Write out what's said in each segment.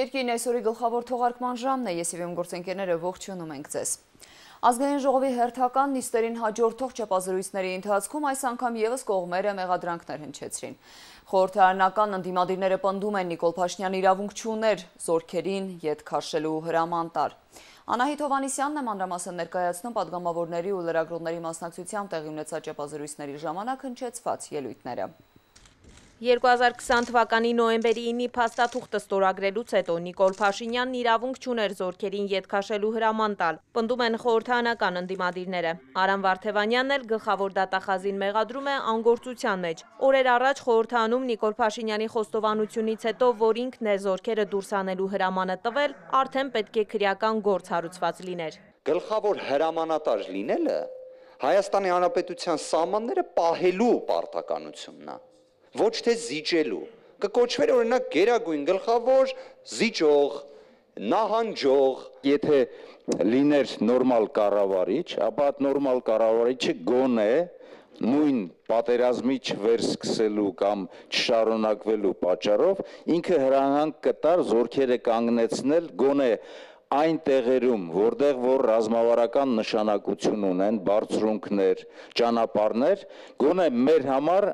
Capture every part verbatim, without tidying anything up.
Երկիրն այսօրի գլխավոր թողարկման ժամն է, ես եւ իմ գործընկերները ողջունում ենք ձեզ։ Ազգային ժողովի հերթական նիստերին հաջորդող չափազրույցների ընթացքում այս անգամ եւս կողմերը մեղադրանքներ հնչեցրին։ Խորհրդարանական ընդդիմադիրները պնդում են Նիկոլ Փաշինյանը իրավունք չուներ զորքերին ետ քաշելու հրաման տալ։ Անահիտ Հովհաննիսյանն է մանրամասն ներկայացնում պատգամավորների ու լրագրողների մասնակցությամբ տեղի ունեցած չափազրույցների ժամանակ հնչեցված ելույթները։ երկու հազար քսան թվականի նոյեմբերի ինը փաստաթուղթը ստորագրելուց հետո Նիկոլ Փաշինյանն իրավունք չուներ զորքերին ետ քաշելու հրաման տալ, պնդում են խորհրդարանական ընդդիմադիրները։ Արամ Վարդևանյանն էլ գլխավոր դատախազին մեղադրում է անգործության մեջ։ Օրեր առաջ խորհրդարանում Նիկոլ Փաշինյանի խոստովանությունից հետո, որ ինքն է զորքերը դուրս անելու հրամանը տվել, արդեն պետք է քրեական գործ հարուցված լիներ։ Գլխավոր հրամանատար լինելը Հայաստանի Հանրապետության սահմանները պահելու պարտականությունն է։ Ոչ թե զիջելու, կկոչվեր օրինակ գերագույն գլխավոր զիջող, նահանջող։ Եթե լիներ նորմալ կառավարիչ, ապա այդ նորմալ կառավարիչը գոնե նույն պատերազմի չվերսկսելու կամ չշարունակվելու պատճառով ինքը հրահանգ կտար զորքերը կանգնեցնել գոնե այն տեղերում, որտեղ որ ռազմավարական նշանակություն ունեն, բարձրունքներ, ճանապարհներ, գոնե մեր համար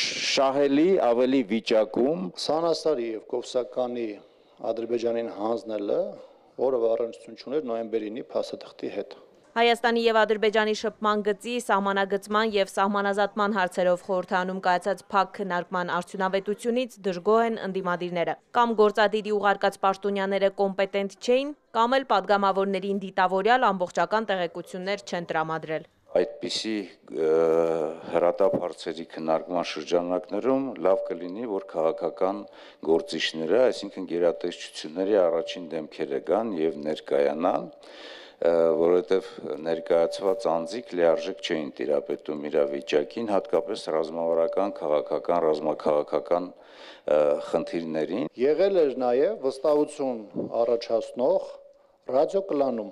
շահելի ավելի վիճակում Սանասարի եւ Կովսականի Ադրբեջանին հանձնելը, որը առնչություն չուներ նոյեմբերի ինը փաստաթղթի հետ։ Հայաստանի եւ Ադրբեջանի շփման գծի, սահմանագծման եւ սահմանազատման հարցերով խորհրդարանում կայացած փակ քննարկման արդյունավետությունից դժգոհ են ընդդիմադիրները։ Կամ գործադիրի ուղարկած պաշտոնյաները կոմպետենտ չէին, կամ էլ падգամավորներին դիտավորյալ ամբողջական տեղեկություններ չեն տրամադրել։ Այդպիսի հրատապ հարցերի քննարկման շրջանակներում լավ կլինի, որ քաղաքական գործիչները, այսինքն գերատեսչությունների առաջին դեմքերը գան եւ ներկայանան, որովհետև ներկայացված անձիկ լիարժեք չէին տիրապետում իրավիճակին, հատկապես ռազմավարական, քաղաքական, ռազմաքաղաքական խնդիրներին։ Եղել էր նաև վստահություն առաջացնող ռադիոկլանում,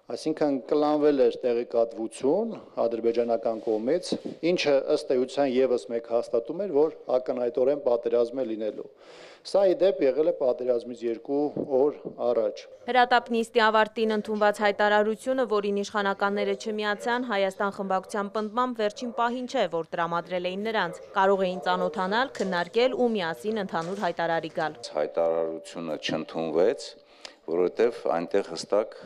այսինքն կլանվել էր տեղեկատվություն ադրբեջանական կողմից, ինչը ըստ էության եւս մեկ հաստատում էր, որ ակնհայտորեն պատերազմ է լինելու։ Սա ի դեպ եղել է պատերազմից երկու օր առաջ։ Հրատապ նիստի ավարտին ընդունված հայտարարությունը, որին իշխանականները չմիացան, Հայաստան խմբակցության պնդմամբ վերջին պահին չէ, որ տրամադրել էին նրանց, կարող էին ծանոթանալ, քննարկել ու միասին ընդհանուր հայտարարի գալ։ Հայտարարությունը չընդունվեց, որովհետև այնտեղ հստակ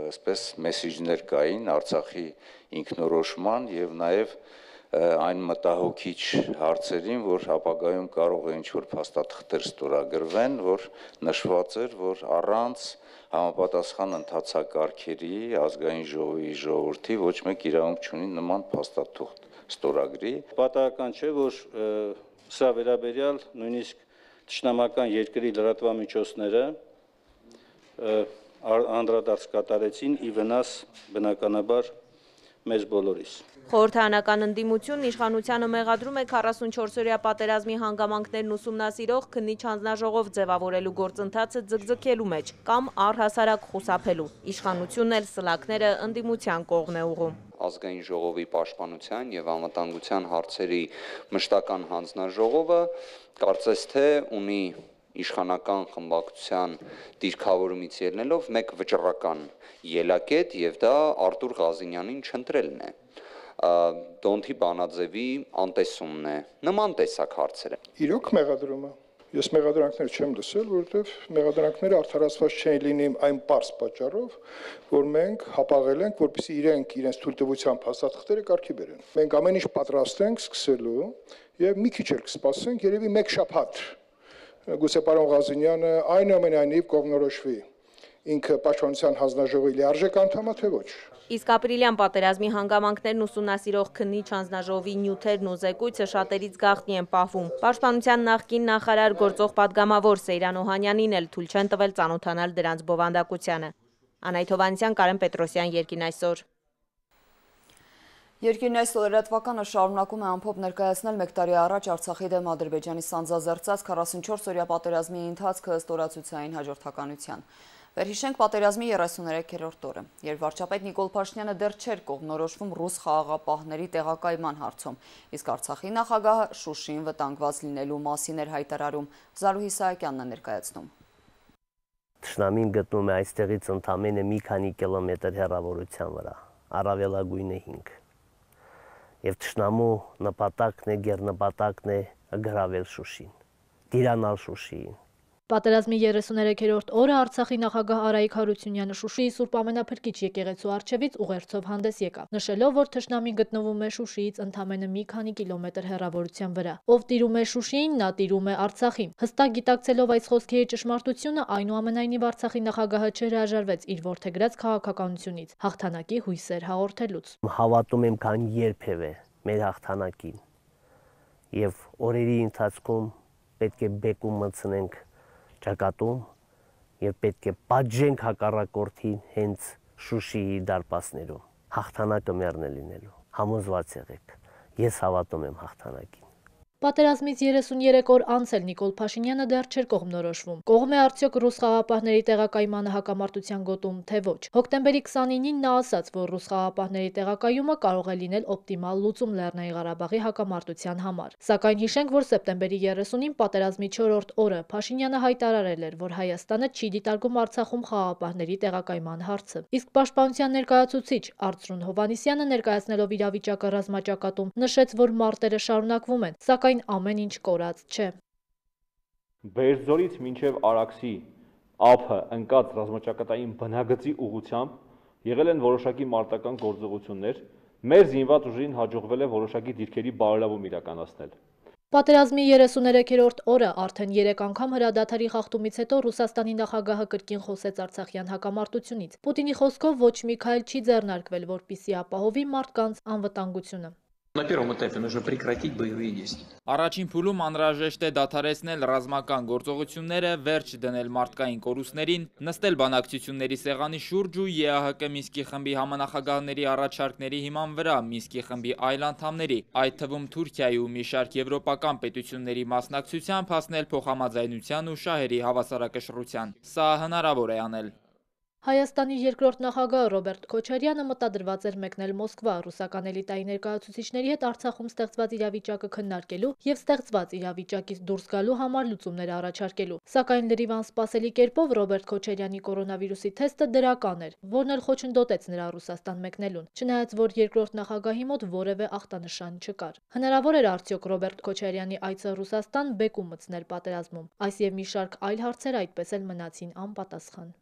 այսպես մեսիջներ կային Արցախի ինքնորոշման եւ նաեւ այն մտահոգիչ հարցերին, որ ապագայում կարող է ինչ-որ փաստաթղթեր ստորագրվեն, որ նշված էր, որ առանց համապատասխան ընթացակարգերի ազգային ժողովի ժողովրդի ոչ մեկ իրավունք չունի նման փաստաթուղթ ստորագրի։ Պատահական չէ, որ սա վերաբերյալ նույնիսկ ճշնամական երկրի լրատվամիջոցները անդրադարձ կատարեցին ի վնաս բնականաբար մեզ բոլորիս։ Խորհրդարանական ընդդիմությունն իշխանությանը մեղադրում է քառասունչորսօրյա պատերազմի հանգամանքներն ուսումնասիրող քննիչ հանձնաժողով ձևավորելու գործընթացը ձգձգելու մեջ կամ առհասարակ խուսափելու։ Իշխանությունն էլ սլաքները ընդդիմության կողմ է ուղղում։ Ազգային ժողովի պաշտպանության եւ անվտանգության հարցերի մշտական հանձնաժողովը կարծես թե ունի իշխանական խմբակցության դիրքավորումից ելնելով մեկ վճռական ելակետ եւ դա Արտուր Ղազինյանին չընտրելն է։ Դոնթի Բանաձևի անտեսումն է, նման տեսակ հարցերը։ Իրոք մեղադրումը։ Ես մեղադրանքներ չեմ լսել, որովհետև մեղադրանքները արդարացված չեն լինի այն պարզ պատճառով, որ մենք հապաղել ենք, որպեսզի իրենք իրենց թույլտվությամբ հաստատքները կարգի բերեն։ Մենք ամեն ինչ պատրաստ ենք սկսելու եւ մի քիչ էլ կսպասենք, երևի մեկ շաբաթ։ Գուցե պարոն Ղազինյանը այնուամենայնիվ կողմնորոշվի ինքը պաշտպանության հանձնաժողովի լիարժեք անդամ է, թե ոչ։ Իսկ ապրիլյան պատերազմի հանգամանքներն ուսումնասիրող քննիչ հանձնաժողովի նյութերն ու զեկույցը շատերից գաղտնի են պահվում։ Պաշտպանության նախկին նախարար գործող պատգամավոր Սեյրան Օհանյանին էլ թույլ չեն տվել ծանոթանալ դրանց բովանդակությանը։ Անահիտ Հովհաննիսյան, Կարեն Պետրոսյան, Երկին այսօր։ Երկիրն այս լրատվականը շարունակում է ամփոփ ներկայացնել մեկ տարի առաջ Արցախի դեմ Ադրբեջանի սանձազերծած քառասունչորս օրյա պատերազմի ընթացքը ստորացուցային հաջորդականության։ Վերհիշենք պատերազմի երեսուներեքերորդ օրը, երբ վարչապետ Նիկոլ Փաշինյանը դեռ չէր կողմնորոշվում ռուս խաղաղապահների տեղակայման հարցում, իսկ Արցախի նախագահը Շուշիին վտանգված լինելու մասին էր հայտարարում։ Զարուհի Սահակյանն է ներկայացնում։ Թշնամին գտնում է այստեղից ընդամենը մի քանի կիլոմետր հեռավորության վրա, առավելագույնը հինգ։ Եվ թշնամու նպատակն է, գերնպատակն է գրավել Շուշին, տիրանալ Շուշիին։ Պատերազմի երեսուներեքերորդ օրը Արցախի նախագահ Արայիկ Հարությունյանը Շուշիի Սուրբ Ամենափրկիչ եկեղեցու առջևից ուղերձով հանդես եկավ, նշելով, որ թշնամին գտնվում է Շուշիից ընդամենը մի քանի կիլոմետր հեռավորության վրա։ Ով տիրում է Շուշիին, նա տիրում է Արցախին։ Հստակ գիտակցելով այս խոսքերի ճշմարտությունը, այնուամենայնիվ Արցախի նախագահը չհրաժարվեց իր որդեգրած քաղաքականությունից, հաղթանակի հույսեր հաղորդելուց։ Հավատում եմ, քան երբևէ մեր հաղթանակին, եւ օրերի ընթացքում պետք է բեկում մտցնենք ճակատում եւ պետք է պատժենք հակառակորդին հենց Շուշիի դարպասներում։ Հաղթանակը մեռն է լինելու։ Համոզված եղեք, ես հավատում եմ հաղթանակին։ Պատերազմից երեսուներեք օր անց էլ Նիկոլ Փաշինյանը դեռ չէր կողմնորոշվում։ Կողմ է արդյոք ռուս խաղաղապահների տեղակայմանը հակամարտության գոտում, թե ոչ։ Հոկտեմբերի քսանինին նա ասաց, որ ռուս խաղաղապահների տեղակայումը կարող է լինել օպտիմալ լուծում Լեռնային Ղարաբաղի հակամարտության համար։ Սակայն հիշենք, որ սեպտեմբերի երեսունին պատերազմի չորրորդ օրը Փաշինյանը հայտարարել էր, որ Հայաստանը չի դիտարկում Արցախում խաղաղապահների տեղակայման հարցը։ Իսկ պաշտպանության ներկայացուցիչ Արծրուն Հովհաննիսյանը ներկայացնելով իրավիճակը ռազմաճակատում նշեց, որ մարտերը շարունակվում են, սակայն ամեն ինչ կորած չէ։ Բերձորից մինչև Արաքսի ափը ընկած ռազմաճակատային բնագծի ուղղությամբ եղել են որոշակի մարտական գործողություններ, մեր զինված ուժին հաջողվել է որոշակի դիրքերի բարելավում իրականացնել։ Պատերազմի երեսուներեքերորդ օրը արդեն երեք անգամ հրադադարի խախտումից հետո Ռուսաստանի նախագահը կրկին խոսեց Արցախյան հակամարտությունից։ Պուտինի խոսքով ոչ մի քայլ չի ձեռնարկվել, որպեսզի ապահովի մարդկանց անվտանգությունը։ Առաջին փուլում անհրաժեշտ է դադարեցնել ռազմական գործողությունները, վերջ դնել մարդկային կորուստներին, նստել բանակցությունների սեղանի շուրջ ու ԵԱՀԿ Մինսկի խմբի համանախագահների առաջարկների հիման վրա Մինսկի խմբի այլ անդամների, այդ թվում Թուրքիայի ու մի շարք եվրոպական պետությունների մասնակցությամբ հասնել փոխհամաձայնության ու շահերի հավասարակշռության։ Սա հնարավոր է անել։ Հայաստանի երկրորդ նախագահ Ռոբերտ Քոչարյանը մտադրված էր մեկնել Մոսկվա ռուսական էլիտայի ներկայացուցիչների հետ Արցախում ստեղծված իրավիճակը քննարկելու եւ ստեղծված իրավիճակից դուրս գալու համար լուծումներ առաջարկելու։ Սակայն լրիվ անսպասելի կերպով Ռոբերտ Քոչարյանի կորոնավիրուսի թեստը դրական էր, որն էլ խոչընդոտեց նրա Ռուսաստան մեկնելուն, չնայած որ երկրորդ նախագահի մոտ որևէ ախտանշան չկար։ Հնարավոր էր արդյոք Ռոբերտ Քոչարյանի այցը Ռուսաստան բեկում մտցնել պատերազմում։ Այս եւ մի շարք այլ հարցեր այդպես էլ մնացին անպատասխան։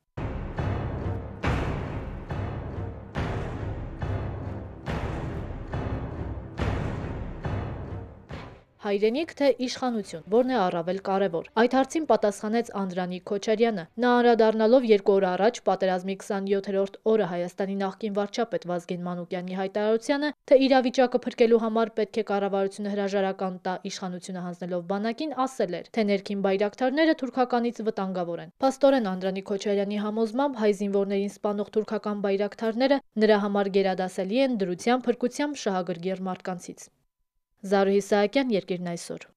Հայրենիք թե իշխանություն, որն է առավել կարևոր։ Այդ հարցին պատասխանեց Անդրանիկ Քոչարյանը։ Նա անդրադառնալով երկու օր առաջ պատերազմի քսաներորդ օրը Հայաստանի նախկին վարչապետ Վազգեն Մանուկյանի հայտարարությանը, թե իրավիճակը փրկելու համար պետք է կառավարությունը հրաժարական տա իշխանությունը հանձնելով բանակին, ասել էր, թե ներքին բայրակթարները թուրքականից վտանգավոր են։ Փաստորեն Անդրանիկ Քոչարյանի համոզմամբ հայ զինվորներին սպանող թուրքական բայրակթարները նրա համար գերադասելի են դրությամբ, փրկությամբ, շահագրգիռ մարդկանցից։ Զարուհի Սահակյան, Երկիրն այսօր։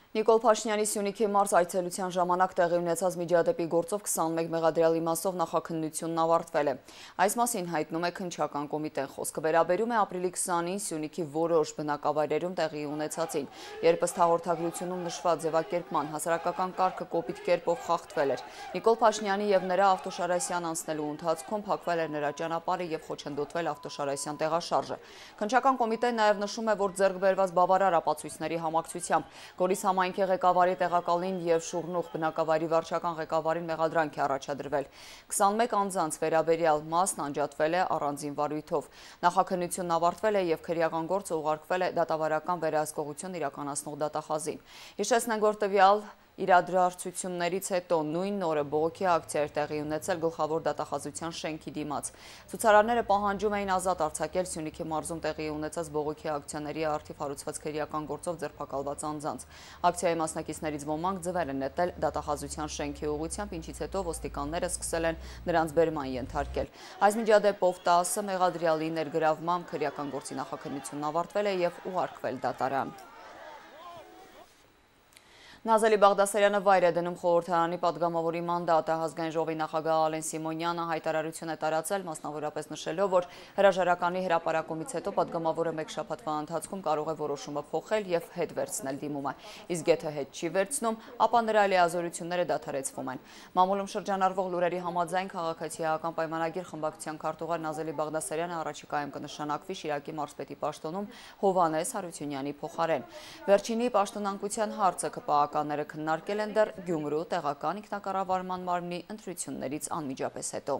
Նիկոլ Փաշինյանի Սյունիքի մարզ այցելության ժամանակ տեղի ունեցած միջադեպի գործով քսանմեկ մեղադրյալ իմաստով նախաքննությունն ավարտվել է։ Այս մասին հայտնում է քննչական կոմիտեն, խոսքը վերաբերում է ապրիլի քսանին Սյունիքի որոշ բնակավայրերում տեղի ունեցածին, երբ ըստ հաղորդագրությունում նշված ձևակերպման հասարակական կարգը կոպիտ կերպով խախտվել էր։ Նիկոլ Փաշինյանի եւ նրա Ավտոշարասյան անցնելու ընթացքում փակվել էր նրա ճանապարհը եւ խոչընդոտվել Ավտոշարասյան տեղաշարժը։ Քննչական կոմիտեն նաեւ նշում է, որ ձեռք բերված բավարար ապացույցների համակցությամբ Գորիս համայնքի ղեկավարի տեղակալին եւ Շուռնուղ բնակավայրի վարչական ղեկավարին մեղադրանք է առաջադրվել։ քսանմեկ անձանց վերաբերյալ մասն անջատվել է առանձին վարույթով։ Նախաքննությունն ավարտվել է եւ քրեական գործը ուղարկվել է դատավարական վերահսկողություն իրականացնող դատախազին։ Հիշեցնենք, որ տվյալ իրադարձություններից հետո նույն օրը բողոքի ակցիա էր տեղի ունեցել Գլխավոր դատախազության շենքի դիմաց։ Ցուցարարները պահանջում էին ազատ արձակել Սյունիքի մարզում տեղի ունեցած բողոքի ակցիաների առթիվ հարուցված քրեական գործով ձերբակալված անձանց։ Ակցիայի մասնակիցներից ոմանք ձվեր են նետել դատախազության շենքի ուղղությամբ, ինչից հետո ոստիկանները սկսել են նրանց բերման ենթարկել։ Այս միջադեպով տասը մեղադրյալի ներգրավմամբ քրեական գործի նախաքննությունն ավարտվել է եւ ուղարկվել դատարան։ Նազելի Բաղդասարյանը վայր է դնում խորհրդարանի պատգամավորի մանդատը։ Ազգային ժողովի նախագահ Ալեն Սիմոնյանը հայտարարություն է տարածել, մասնավորապես նշելով, որ հրաժարականի հրապարակումից հետո պատգամավորը մեկ շաբաթվա ընթացքում կարող է որոշումը փոխել եւ հետ վերցնել դիմումը։ Իսկ եթե հետ չի վերցնում, ապա նրա լիազորությունները դադարեցվում են։ Մամուլում շրջանառվող լուրերի համաձայն քաղաքացիական պայմանագիր խմբակցության քարտուղար Նազելի Բաղդասարյանը առաջիկայում կնշանակվի Շիրակի մարզպետի պաշտոնում Հովհաննես Հարությունյանի փոխարեն։ Վերջինի պաշտոնանկության հարցը ԿՊԱ-ականները քննարկել են դեռ Գյումրու տեղական ինքնակառավարման մարմնի ընտրություններից անմիջապես հետո։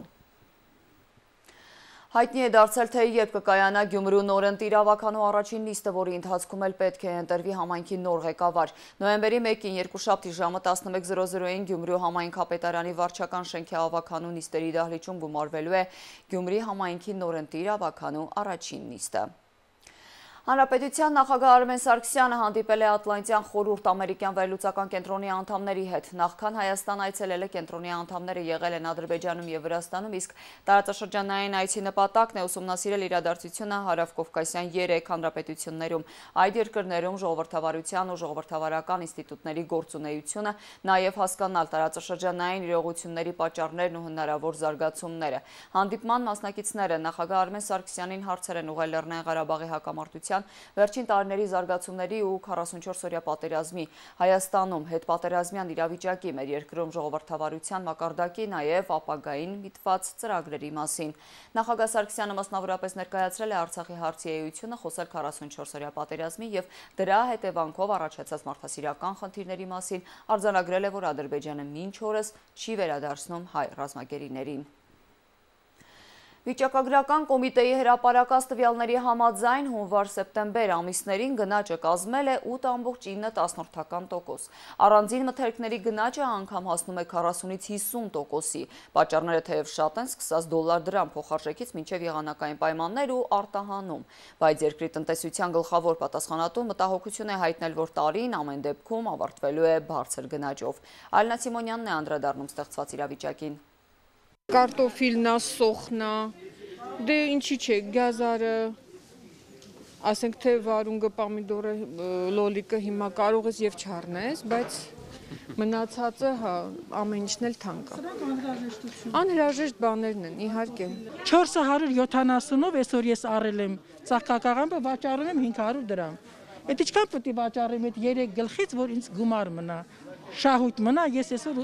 Հայտնի է դարձել, թե երբ կկայանա Գյումրու նորընտիր ավականու առաջին նիստը, որի ընթացքում էլ պետք է ընտրվի համայնքի նոր ղեկավար։ Նոյեմբերի մեկին երկուշաբթի ժամը տասնմեկ զրո զրոյին Գյումրու համայնքապետարանի վարչական շենքի ավականու նիստերի դահլիճում գումարվելու է Գյումրի համայնքի նորընտիր ավականու առաջին նիստը։ Հանրապետության նախագահ Արմեն Սարգսյանը հանդիպել է Ատլանտյան խորհուրդ ամերիկյան վերլուծական կենտրոնի անդամների հետ։ Նախքան Հայաստան այցելել է կենտրոնի անդամները եղել են Ադրբեջանում եւ Վրաստանում, իսկ տարածաշրջանային այցի նպատակն է ուսումնասիրել իրադարձությունը հարավկովկասյան երեք հանրապետություններում։ Այդ երկրներում ժողովրդավարության ու ժողովրդավարական ինստիտուտների գործունեությունը, նաեւ հասկանալ տարածաշրջանային իրողությունների պատճառներն ու հնարավոր զարգացումները։ Հանդիպման մասնակիցները նախագահ Արմեն Սարգսյանին հարցեր են ուղղել Լեռնային Ղարաբաղի հակամարտության վերջին տարիների զարգացումների ու քառասունչորս-օրյա պատերազմի, Հայաստանում հետպատերազմյան իրավիճակի, մեր երկրում ժողովրդավարության մակարդակի, նաև ապագային միտված ծրագրերի մասին։ Նախագահ Սարգսյանը մասնավորապես ներկայացրել է Արցախի հարցի էությունը, խոսել քառասունչորս-օրյա պատերազմի եւ դրա հետևանքով առաջացած մարդասիրական խնդիրների մասին, արձանագրել է, որ Ադրբեջանը մինչ օրս չի վերադարձնում հայ ռազմագերիներին։ Վիճակագրական կոմիտեի հրապարակած տվյալների համաձայն հունվար-սեպտեմբեր ամիսներին գնաճը կազմել է ութ ամբողջ ինը տոկոս։ Առանձին մթերքների գնաճը անգամ հասնում է քառասունից հիսուն տոկոսի։ Պատճառները թեև շատ են, սկսած դոլար դրամ փոխարժեքից մինչև եղանակային պայմաններ ու արտահանում, բայց երկրի տնտեսության գլխավոր պատասխանատուն մտահոգություն է հայտնել, որ տարին ամեն դեպքում ավարտվելու է բարձր գնաճով։ Ալինա Սիմոնյանն է անդրադառնում ստեղծված իրավիճակին։ Կարտոֆիլնա, սոխնա, դե ինչի չէ, գազարը, ասենք թե վարունգը, պամիդորը, լոլիկը հիմա կարող ես եւ չառնես, բայց մնացածը հա ամեն ինչն էլ թանկ է։ Անհրաժեշտ բաներն են, իհարկե։ չորս հարյուր յոթանասունով այսօր ես առել եմ ծաղկակաղամբը, վաճառում եմ հինգ հարյուր դրամ։ Այդ ինչքան պետք է վաճառեմ այդ երեք գլխից, որ ինձ գումար մնա, շահույթ մնա, ես այսօր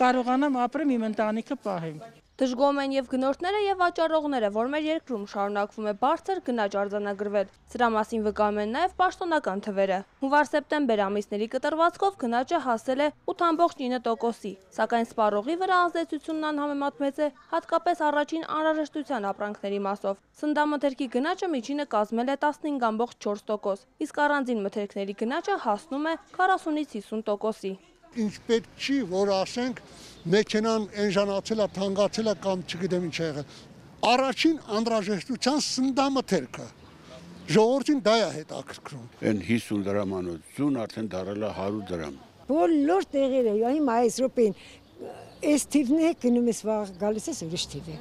կարողանամ ապրեմ, իմ ընտանիքը պահեմ։ Դժգոհում են եւ գնորդները եւ վաճառողները, որ մեր երկրում շարունակվում է բարձր գնաճ արձանագրվել։ Սրա մասին վկայում են նաեւ պաշտոնական թվերը։ Հունվար-սեպտեմբեր ամիսների կտրվածքով գնաճը հասել է ութ ամբողջ ինը տոկոսի, սակայն սպառողի վրա ազդեցությունն անհամեմատ մեծ է, հատկապես առաջին անհրաժեշտության ապրանքների մասով։ Սննդամթերքի գնաճը միջինը կազմել է տասնհինգ ամբողջ չորս տոկոս, իսկ առանձին մթերքների գնաճը հասնում է քառասունից հիսուն տոկոսի։ Ինչ պետք չի, որ ասենք մեքենան էնժանացել է, թանկացել է կամ չգիտեմ ինչ է եղել։ Առաջին անհրաժեշտության սննդամթերքը ժողովրդին դա է հետաքրքրում։ Այն հիսուն դրամանոցուն արդեն դարել է հարյուր դրամ։ Բոլոր տեղերը, հիմա այս րոպեին այս թիվն է գնում ես վաղ գալիս ես ուրիշ թիվ է։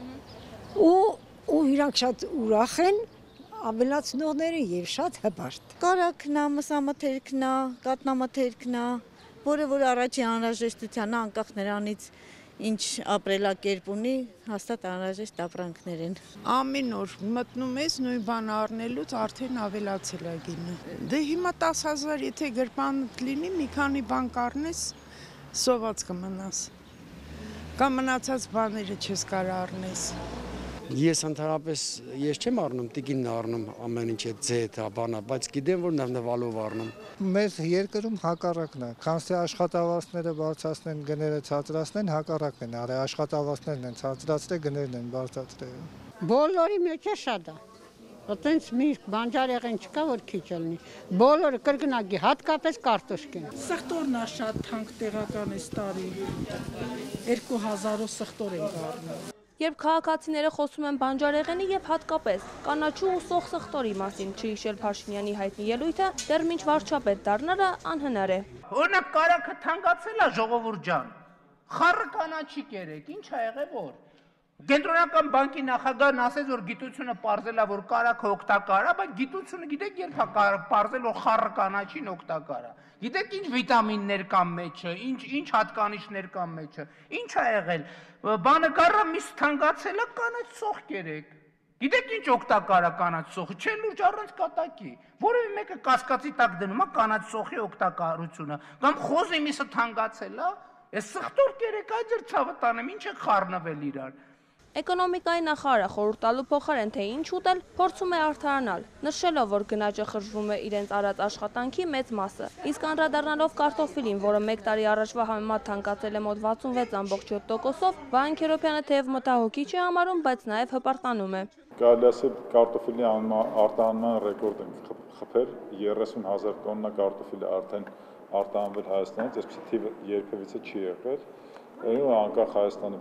Ու ու իրանք շատ ուրախ են, ավելացնողները եւ շատ հպարտ։ Կարակնա, մսամթերքնա, կատնամթերքնա, որը որ առաջի անհրաժեշտության անկախ նրանից ինչ ապրելակերպ ունի, հաստատ անհրաժեշտ ապրանքներ են։ Ամեն օր մտնում ես նույն բանը առնելուց արդեն ավելացել է գինը։ Դե հիմա տասը հազար եթե գրպան լինի, մի քանի բան կառնես, սոված կմնաս։ Կամ մնացած բաները չես կարող առնես։ Ես ընդհանրապես ես չեմ առնում, տիկինն առնում ամեն ինչ է ձեթ, բանա, բայց գիտեմ, որ նվնվալով առնում։ Մեզ երկրում հակառակն է, քանսի աշխատավարձները բարձրացնեն, գները ցածրացնեն, հակառակն են արել, աշխատավարձներն են ցածրացրել, գներն են բարձրացրել։ Բոլորի մեջ է շատ է։ Այտենց մի բանջարեղեն չկա, որ քիչ լինի։ Բոլորը կրկնակի, հատկապես կարտոշկին։ Սխտորն է շատ թանկ տեղական էս տարի։ երկու հազարով սխտոր ենք առնում։ Երբ քաղաքացիները խոսում են բանջարեղենի եւ հատկապես կանաչու ու սոխ սխտորի մասին, չհիշել Փաշինյանի հայտնի ելույթը, դեռ մինչ վարչապետ դառնալը անհնար է։ Օրինակ կարագը թանկացել է, ժողովուրդ ջան։ Խառը կանաչի կերեք, ինչ ա եղել որ։ Կենտրոնական բանկի նախագահն ասեց, որ գիտությունը պարզել է, որ կարագը օգտակար է, բայց գիտությունը գիտեք երբ է պարզել, որ խառը կանաչին օգտակար է։ Գիտեք ինչ վիտամիններ կան մեջը, ինչ ինչ հատկանիշներ կան մեջը, ինչ ա եղել։ Բանը կարա միս թանկացել է, կանաչ սոխ կերեք։ Գիտեք ինչ օգտակար է կանաչ սոխը, չէ լուրջ առանց կատակի։ Որևէ մեկը կասկածի տակ դնում է կանաչ սոխի օգտակարությունը, կամ խոզի միսը թանկացել է, այս սխտոր կերեք, այդ ձեր ցավը տանեմ, ինչ է խառնվել իրար։ Էկոնոմիկայի նախարարը խորհուրդ տալու փոխարեն թե ինչ ուտել, փորձում է արդարանալ, նշելով, որ գնաճը խժվում է իրենց արած աշխատանքի մեծ մասը։ Իսկ անդրադառնալով կարտոֆիլին, որը մեկ տարի առաջվա համեմատ թանկացել է մոտ վաթսունվեց ամբողջ յոթ տոկոսով, Վահան Քերոբյանը թեև մտահոգիչ է համարում, բայց նաև հպարտանում է։ Կարելի ասել կարտոֆիլի արտահանման ռեկորդ ենք խփել, երեսուն հազար տոննա կարտոֆիլ արդեն արտահանվել Հայաստանից, այսպիսի թիվը երբևիցե չի եղել։ Անկախ Հայաստանի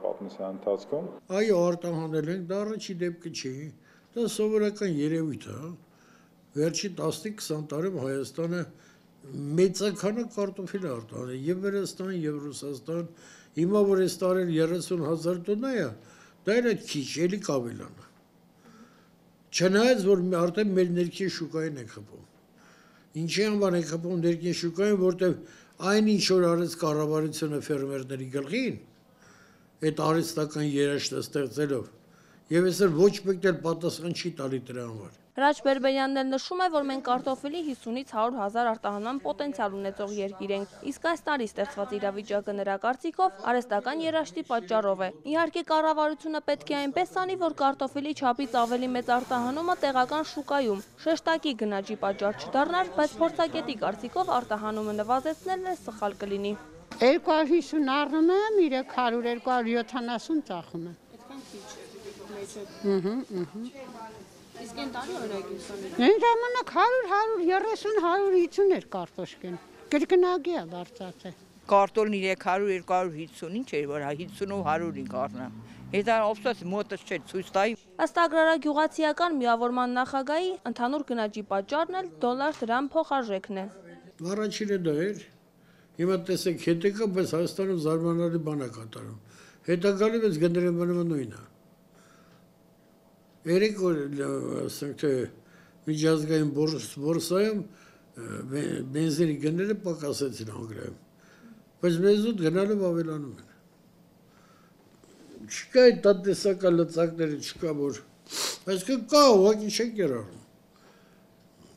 պատմության ընթացքում։ Այո, արտահանել ենք, դա առաջի դեպքը չի, դա սովորական երևույթ է։ Վերջի տասնից քսան տարում Հայաստանը մեծաքանակ կարտոֆիլ արտահանել, եւ Վրաստան, եւ Ռուսաստան, հիմա որ այս տարել երեսուն հազար տոննա է, դա էլ քիչ, էլի կավելանա։ Չնայած որ արդեն մեր ներքին շուկային ենք խփում։ Ինչի համար ենք խփում ներքին շուկային, որտեղ այն ինչ որ արեց կառավարությունը ֆերմերների գլխին, այդ արհեստական երաշտը ստեղծելով, եւ այսօր ոչ մեկն էլ պատասխան չի տալի դրա համար։ Հրաչ Բերբերյանն էլ նշում է, որ մենք կարտոֆիլի հիսունից հարյուր հազար արտահանման պոտենցիալ ունեցող երկիր ենք, իսկ այս տարի ստեղծված իրավիճակը նրա կարծիքով արհեստական երաշտի պատճառով է։ Իհարկե կառավարությունը պետք է այնպես անի, որ կարտոֆիլի չափից ավելի մեծ արտահանումը տեղական շուկայում շեշտակի գնաճի պատճառ չդառնար, բայց փորձագետի կարծիքով արտահանումը նվազեցնելն է սխալ կլինի։ երկու հարյուր հիսուն առնում եմ, երեք հարյուր երկու հարյուր յոթանասուն ծախում եմ։ Այդքան քիչ։ Իսկ այն տարի օրինակ ինձ Այն ժամանակ հարյուր հարյուր երեսուն հարյուր հիսուն էր կարտոշկեն։ Կրկնակի է բարձրացել։ Կարտոֆիլն երեք հարյուր երկու հարյուր հիսուն ինչ էր, որ հիսունով հարյուրին կառնամ։ Հետո օբսես մոտս չէ ցույց տայի։ Ըստ Ագրարագյուղացիական միավորման նախագահի, ընդհանուր գնաճի պատճառն էլ դոլար դրամ փոխարժեքն է։ Առաջինը դա էր։ Հիմա տեսեք, հետեկա, բայց Հայաստանում զարմանալի բան է կատարում։ Հետագալի բայց գները մնում նույնն է։ Երեք օր ասենք թե միջազգային բորսայում բենզինի գները պակասեցին Անգլիայում, բայց մեզ ուտ գնալով ավելանում են։ Չկա այդ տնտեսական լծակները, չկա որ, այսինքն կա, ուղղակի չեն կիրառում,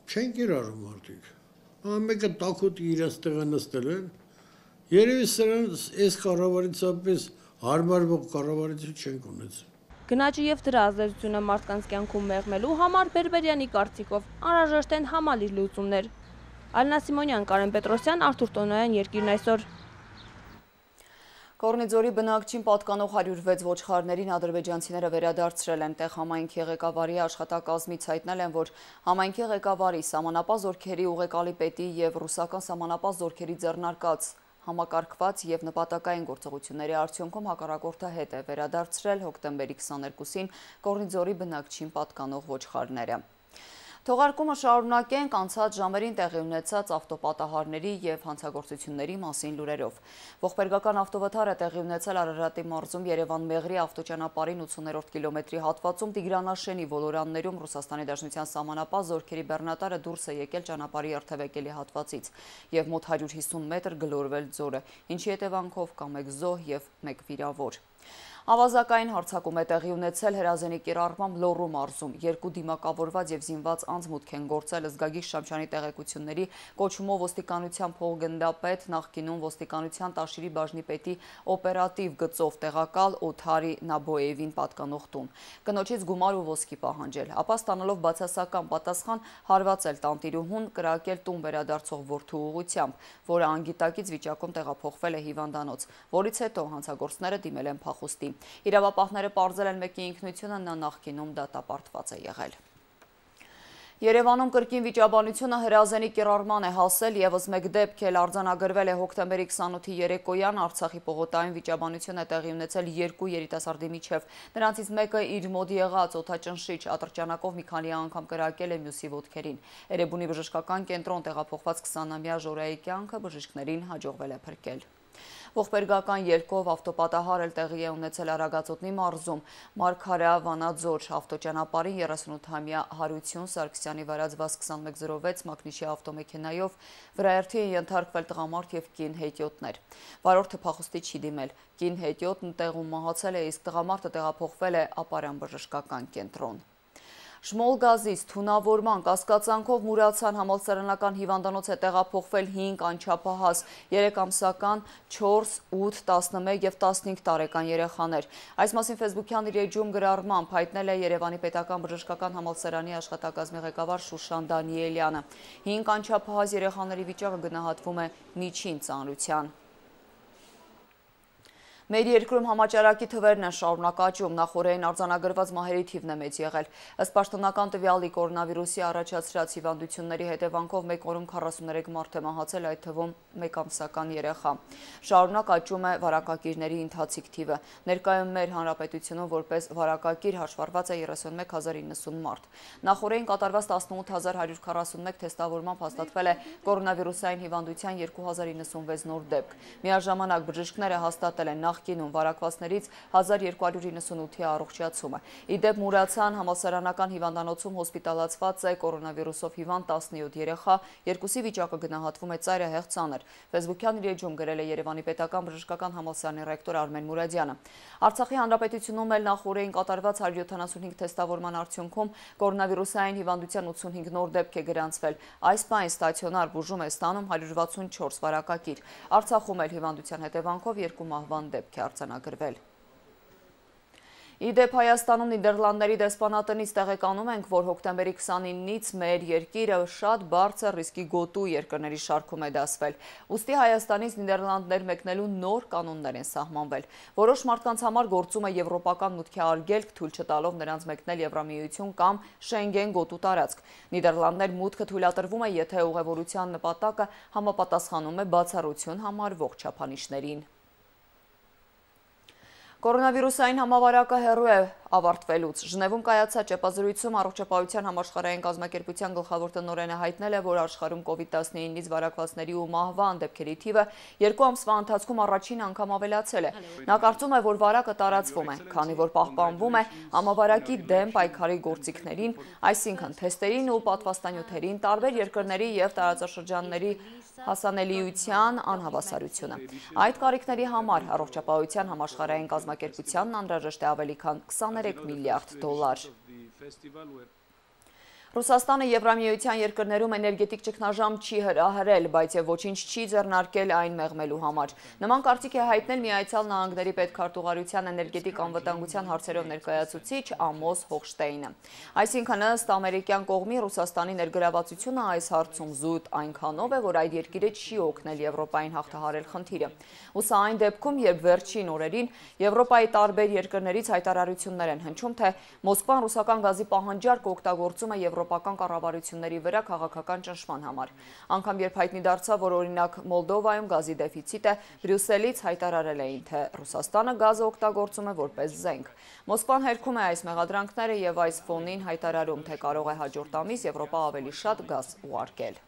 չեն կիրառում մարդիկ։ Ամեկը տաքուտի իրենց տեղը նստել են, երևի սրանց այս կառավարությունից հարմարվող կառավարություն չենք ունեցել։ Գնաճի եւ դրա ազդեցությունը մարդկանց կյանքում մեղմելու համար Բերբերյանի կարծիքով անհրաժեշտ են համալիր լուծումներ։ Ալինա Սիմոնյան, Կարեն Պետրոսյան, Արթուր Տոնոյան, Երկիրն այսօր։ Կորնիձորի բնակչին պատկանող հարյուր վեց ոչխարներին ադրբեջանցիները վերադարձրել են տեղ համայնքի ղեկավարի աշխատակազմից հայտնել են, որ համայնքի ղեկավարի սահմանապահ զորքերի ուղեկալի պետի եւ ռուսական սահմանապահ զորքերի ձեռնարկած համակարգված եւ նպատակային գործողությունների արդյունքում հակառակորդը հետ է վերադարձրել հոկտեմբերի քսաներկուսին Կորնիձորի բնակչին պատկանող ոչխարները։ Թողարկումը շարունակենք անցած ժամերին տեղի ունեցած ավտոպատահարների եւ հանցագործությունների մասին լուրերով։ Ողբերգական ավտովթարը տեղի ունեցել Արարատի մարզում Երևան-Մեղրի ավտոճանապարհին ութսուներորդ կիլոմետրի հատվածում Տիգրանաշենի ոլորաններում Ռուսաստանի Դաշնության սահմանապահ զորքերի բեռնատարը դուրս է եկել ճանապարհի երթևեկելի հատվածից եւ մոտ հարյուր հիսուն մետր գլորվել ձորը, ինչի հետևանքով կա մեկ զոհ եւ մեկ վիրավոր։ Ավազակային հարձակում է տեղի ունեցել Հրազենի կիրառմամբ Լոռու մարզում։ Երկու դիմակավորված եւ զինված անձ մուտք են գործել Զգագի Շամչյանի տեղեկությունների կոչումով ոստիկանության փոխգնդապետ, նախկինում ոստիկանության Տաշիրի բաժնի պետի օպերատիվ գծով տեղակալ Օթարի Նաբոևին պատկանող տուն։ Կնոջից գումար ու ոսկի պահանջել, ապա ստանալով բացասական պատասխան հարվածել տանտիրուհուն, կրակել տուն վերադարձող որդու ուղղությամբ, որը անգիտակից վիճակում տեղափոխվել է հիվանդանոց, որից հետո հանցագործները դիմել են փախուստի։ Իրավապահները պարզել են մեկի ինքնությունը, նա նախկինում դատապարտված է եղել։ Երևանում կրկին վիճաբանությունը հրազենի կիրառման է հասել, ևս մեկ դեպք էլ արձանագրվել է հոկտեմբերի քսանութի երեկոյան Արցախի պողոտայում վիճաբանություն է տեղի ունեցել երկու երիտասարդի միջև։ Նրանցից մեկը իր մոտ եղած օդաճնշիչ ատրճանակով մի քանի անգամ կրակել է մյուսի ոտքերին։ Էրեբունի բժշկական կենտրոն տեղափոխված քսանամյա Ժորայի կյանքը բժիշկներին հաջողվել է փրկել։ Ողբերգական ելքով ավտոպատահար էլ տեղի է ունեցել Արագածոտնի մարզում Մարգարա Վանաձոր ավտոճանապարհին երեսունութամյա Հարություն Սարգսյանի վարած վազ քսանմեկ զրո վեց մակնիշի ավտոմեքենայով վրայերթի են ենթարկվել տղամարդ եւ կին հետիոտներ։ Վարորդը փախուստի չի դիմել։ Կին հետիոտն տեղում մահացել է, իսկ տղամարդը տեղափոխվել է Ապարյան բժշկական կենտրոն։ Շմոլ գազից թունավորման կասկածանքով Մուրացյան համալսարանական հիվանդանոց է տեղափոխվել հինգ անչափահաս, երեք ամսական, չորս, ութ, տասնմեկ և տասնհինգ տարեկան երեխաներ։ Այս մասին ֆեյսբուքյան իր էջում գրառմամբ հայտնել է Երևանի պետական բժշկական համալսարանի աշխատակազմի ղեկավար Շուշան Դանիելյանը։ Հինգ անչափահաս երեխաների վիճակը գնահատվում է միջին ծանրության։ Մեր երկրում համաճարակի թվերն են շարունակ աճում, նախօրեին արձանագրված մահերի թիվն է մեծ եղել։ Ըստ պաշտոնական տվյալի կորոնավիրուսի առաջացրած հիվանդությունների հետևանքով մեկ օրում քառասուներեք մարդ է մահացել, այդ թվում մեկ ամսական երեխա։ Շարունակ աճում է վարակակիրների ընթացիկ թիվը։ Ներկայում մեր հանրապետությունում որպես վարակակիր հաշվառված է երեսունմեկ հազար իննսուն մարդ։ Նախօրեին կատարված տասնութ հազար հարյուր քառասունմեկ թեստավորմամբ հաստատվել է կորոնավիրուսային հիվանդության երկու հազար իննսունվեց նոր դեպք։ Միաժամանակ բժիշկները հաստատել են նախկինում վարակվածներից հազար երկու հարյուր իննսունութի առողջացումը։ Իդեպ Մուրացյան համալսարանական հիվանդանոցում հոսպիտալացված է կորոնավիրուսով հիվանդ տասնյոթ երեխա, երկուսի վիճակը գնահատվում է ծայրահեղ ծանր։ Ֆեյսբուքյան իր էջում գրել է Երևանի պետական բժշկական համալսարանի ռեկտոր Արմեն Մուրադյանը։ Արցախի հանրապետությունում էլ նախօրեին կատարված հարյուր յոթանասունհինգ թեստավորման արդյունքում կորոնավիրուսային հիվանդության ութսունհինգ նոր դեպք է գրանցվել։ Այս պահին ստացիոնար բուժում է ստանում հարյուր վաթսունչորս վարակակիր։ Արցախում էլ հիվանդության հետևանքով երկու մահվան դեպք է արձանագրվել։ Իդեպ Հայաստանում Նիդերլանդների դեսպանատնից տեղեկանում ենք, որ հոկտեմբերի քսանինից մեր երկիրը շատ բարձր ռիսկի գոտու երկրների շարքում է դասվել։ Ուստի Հայաստանից Նիդերլանդներ մեկնելու նոր կանոններ են սահմանվել։ Որոշ մարդկանց համար գործում է եվրոպական մուտքի արգելք, թույլ չտալով նրանց մեկնել Եվրամիություն կամ Շենգեն գոտու տարածք։ Նիդերլանդներ մուտքը թույլատրվում է, եթե ուղևորության նպատակը համապատասխանում է բացառություն համարվող չափանիշներին։ Կորոնավիրուսային համավարակը հեռու է ավարտվելուց։ Ժնևում կայացած ճեպազրույցում առողջապահության համաշխարհային կազմակերպության գլխավոր տնօրենը հայտնել է, որ աշխարհում կովիդ տասնինից վարակվածների ու մահվան դեպքերի թիվը երկու ամսվա ընթացքում առաջին անգամ ավելացել է։ Նա կարծում է, որ վարակը տարածվում է, քանի որ պահպանվում է համավարակի դեմ պայքարի գործիքներին, այսինքն թեստերին ու պատվաստանյութերին, տարբեր երկրների և տարածաշրջանների հասանելիության անհավասարությունը։ Այդ կարիքների համար առողջապահության համաշխարհային կազմակերպությանն անհրաժեշտ է ավելի քան քսաներեք միլիարդ դոլար։ Ռուսաստանը Եվրամիության երկրներում էներգետիկ ճգնաժամ չի հրահրել, բայց եւ ոչինչ չի ձեռնարկել այն մեղմելու համար։ Նման կարծիք է հայտնել Միացյալ Նահանգների պետքարտուղարության էներգետիկ անվտանգության հարցերով ներկայացուցիչ Ամոս Հոխշտեյնը։ Այսինքն ըստ ամերիկյան կողմի Ռուսաստանի ներգրավվածությունը այս հարցում զուտ այնքանով է, որ այդ երկիրը չի օգնել Եվրոպային հաղթահարել խնդիրը։ Ու սա այն դեպքում, երբ վերջին օրերին Եվրոպայի տարբեր երկրներից հայտարարություններ են հնչում, թե Մոսկվան ռուսական գազի պահանջարկ օգտագործում է եվրոպական կառավարությունների վրա քաղաքական ճնշման համար։ Անգամ երբ հայտնի դարձավ, որ օրինակ Մոլդովայում գազի դեֆիցիտ է, Բրյուսելից հայտարարել էին, թե Ռուսաստանը գազը օգտագործում է որպես զենք։ Մոսկվան հերքում է այս մեղադրանքները եւ այս ֆոնին հայտարարում, թե կարող է հաջորդ ամիս Եվրոպա ավելի շատ գազ ուղարկել։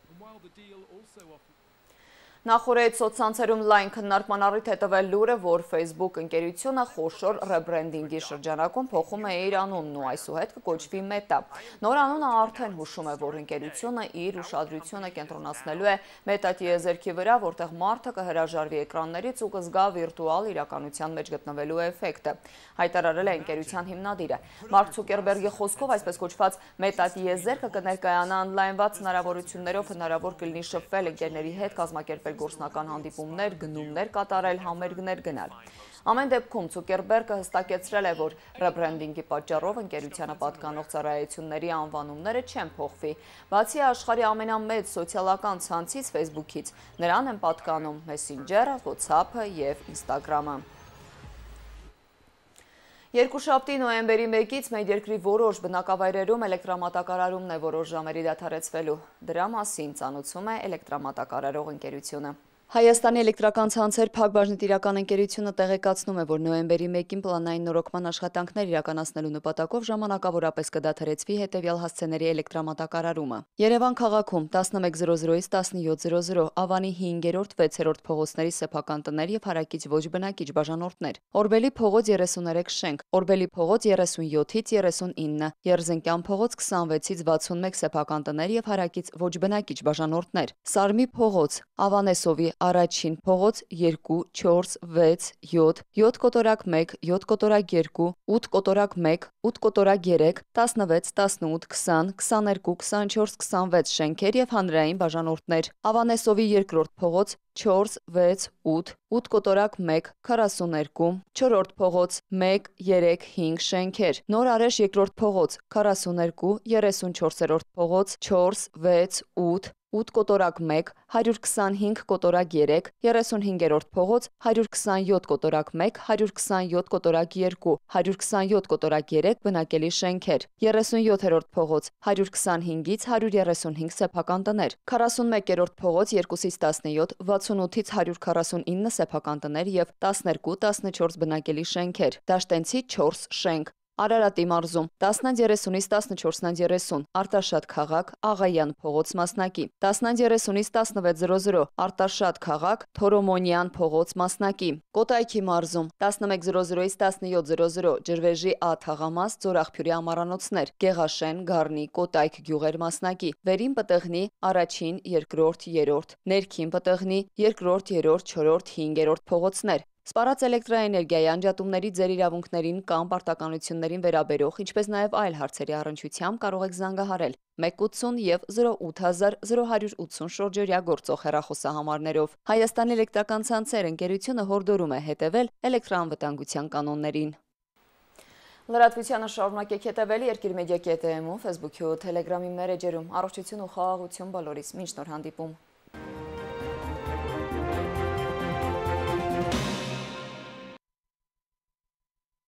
Նախորդ սոցցանցերում լայն քննարկման առիթ է տվել լուրը, որ Facebook ընկերությունը խոշոր ռեբրենդինգի շրջանակում փոխում է իր անունն ու այսուհետ կկոչվի Meta։ Նոր անունը արդեն հուշում է, որ ընկերությունը իր ուշադրությունը կենտրոնացնելու է Meta տիեզերքի վրա, որտեղ մարդը կհրաժարվի էկրաններից ու կզգա վիրտուալ իրականության մեջ գտնվելու էֆեկտը, հայտարարել է ընկերության հիմնադիրը։ Մարկ Ցուկերբերգի խոսքով այսպես կոչված Meta տիեզերքը կներկայանա օնլայնված հնարավորություններով հնարավոր կլինի շփվել ընկերների հետ, կազմակերպել գործնական հանդիպումներ, գնումներ կատարել, համերգներ գնալ։ Ամեն դեպքում Ցուկերբերգը հստակեցրել է, որ ռեբրենդինգի պատճառով ընկերությանը պատկանող ծառայությունների անվանումները չեն փոխվի։ Բացի աշխարհի ամենամեծ սոցիալական ցանցից Facebook-ից, նրան են պատկանում Messenger-ը, WhatsApp-ը և Instagram-ը։ Երկուշաբթի նոյեմբերի մեկից մեր երկրի որոշ բնակավայրերում էլեկտրամատակարարումն է որոշ ժամերի դադարեցվելու։ Դրա մասին ծանոթում է էլեկտրամատակարարող ընկերությունը։ Հայաստանի էլեկտրական ցանցեր Փակ բաժնետիրական ընկերությունը տեղեկացնում է, որ նոյեմբերի մեկին պլանային նորոգման աշխատանքներ իրականացնելու նպատակով ժամանակավորապես կդադարեցվի հետևյալ հասցեների էլեկտրամատակարարումը։ Երևան քաղաքում տասնմեկ զրո զրոից տասնյոթ զրո զրո, Ավանի հինգերորդ վեցերորդ փողոցների սեփական տներ և հարակից ոչ բնակիչ բաժանորդներ, Օրբելի փողոց երեսուներեք շենք, Օրբելի փողոց երեսունյոթից երեսունինը, Երզնկյան փողոց քսանվեցից վաթսունմեկ սեփական տներ և հարակից ոչ բնակիչ բաժանորդներ, Սարմի փողոց, Ավանեսովի առաջին փողոց երկու, չորս, վեց, յոթ, յոթ կոտորակ մեկ, յոթ կոտորակ երկու, ութ կոտորակ մեկ, ութ կոտորակ երեք, տասնվեց, տասնութ, քսան, քսաներկու, քսանչորս, քսանվեց շենքեր և հանրային բաժանորդներ, Ավանեսովի երկրորդ փողոց չորս, վեց, ութ, ութ կոտորակ մեկ, քառասուներկու, չորրորդ փողոց մեկ, երեք, հինգ շենքեր, Նոր Արեշ երկրորդ փողոց քառասուներկու, երեսունչորսերորդ փողոց չորս, վեց, ութ, ութ կոտորակ մեկ, հարյուր քսանհինգ կոտորակ երեք, երեսունհինգերորդ փողոց հարյուր քսանյոթ կոտորակ մեկ, հարյուր քսանյոթ կոտորակ երկու, հարյուր քսանյոթ կոտորակ երեք բնակելի շենքեր, երեսունյոթերորդ փողոց հարյուր քսանհինգից հարյուր երեսունհինգ սեփական տներ, քառասունմեկերորդ փողոց երկուսից տասնյոթ, վաթսունութից հարյուր քառասունինը սեփական տներ և տասներկու, տասնչորս բնակելի շենքեր, Դաշտենցի չորս շենք, Արարատի մարզում տասնից երեսունից տասնչորսից երեսուն, Արտաշատ քաղաք, Աղայան փողոց մասնակի, տասնից երեսունից տասնվեց զրո զրո, Արտաշատ քաղաք, Թորոմոնյան փողոց մասնակի, Կոտայքի մարզում տասնմեկ զրո զրոից տասնյոթ զրո զրո, Ջրվեժի Ա թաղամաս, Ձորաղբյուրի ամառանոցներ, Գեղաշեն, Գառնի, Կոտայք գյուղեր մասնակի, Վերին Պտղնի առաջին, երկրորդ, երրորդ, Ներքին Պտղնի երկրորդ, երրորդ, չորրորդ, հինգերորդ փողոցներ, Սպառած էլեկտրաէներգիայի անջատումների ձեր իրավունքներին կամ պարտականություններին վերաբերող, ինչպես նաև այլ հարցերի առնչությամբ կարող եք զանգահարել մեկ ութսուն և զրո ութ հազար զրո հարյուր ութսուն շորջօրյա գործող հեռախոսահամարներով։ Հայաստանի էլեկտրական ցանցեր ընկերությունը հորդորում է հետևել էլեկտրաանվտանգության կանոններին։ Լրատվությանը շարունակեք հետևել Երկիր մեդիա կետ էմ-ում, Facebook-ի ու Telegram-ի մերեջերում։ Առողջություն ու խաղաղություն բոլորիս, մինչ նոր հանդիպում։